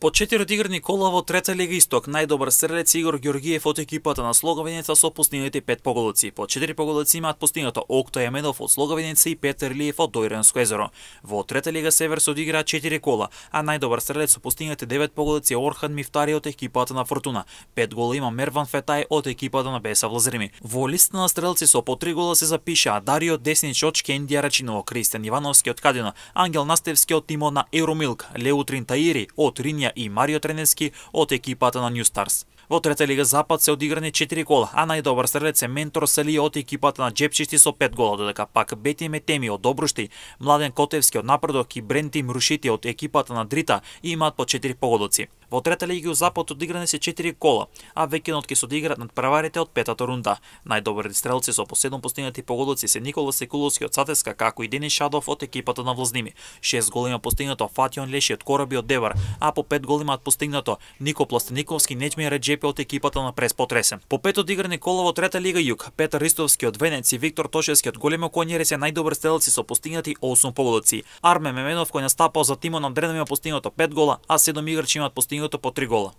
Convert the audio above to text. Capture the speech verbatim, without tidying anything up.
По четири одиграни кола во трета лига Исток, најдобар стрелец Игор Ѓоргиев од екипата на Слоговиница со постигнати пет поголици. По четири поголици имаат постигнато Окто Јаменов од Слоговиница и Петар Илиев од Дојранско езеро. Во трета лига Север се одиграа четири кола, а најдобар стрелец со постигнати девет поголици Орхан Мифтари од екипата на Фортуна. пет гола има Мерван Фетај од екипата на Беса Влазрими. Во листа на стрелци со по три гола се запишаа Дарио Деснич од Шкендија Рачиново, Кристијан Ивановски од Кадина, Ангел Настевски од тимот на Евромилк, Леутрин Таири од Ринја и Марио Тренески од екипата на Нью Старс. Во трета лига Запад се одиграни четири кола, а најдобар стрелец е Ментор Сали од екипата на Джепчишти со пет гола, додека пак Бети Метеми од Добрушти, Младен Котевски од Напредок и Бренти Мрушити од екипата на Дрита имаат по четири поголици. Во трета лига Запад одиграни се четири кола, а веќенот ќе се одиграат над преварите од петата рунда. Најдобри стрелци со по седум постигнати поголици се Никола Секуловски од Сатеска, како и Денис Шадов од екипата на Влазними. шест гола има постигнато Фатион Леши од Кораби од Девар, а по пет гола имаат постигнато Нико Пластениковски, Неџми Реджепи од екипата на Прес Потресен. По пет одиграни кола во трета лига Југ, Петар Ристовски од Венец и Виктор Тошевски од Големо Конјери се најдобри стрелци со постигнати осум поголици. Арме Меменов кој настапал за тимот на Дрена има постигнато пет гола, а седум играчи имаат постигнато по три гола.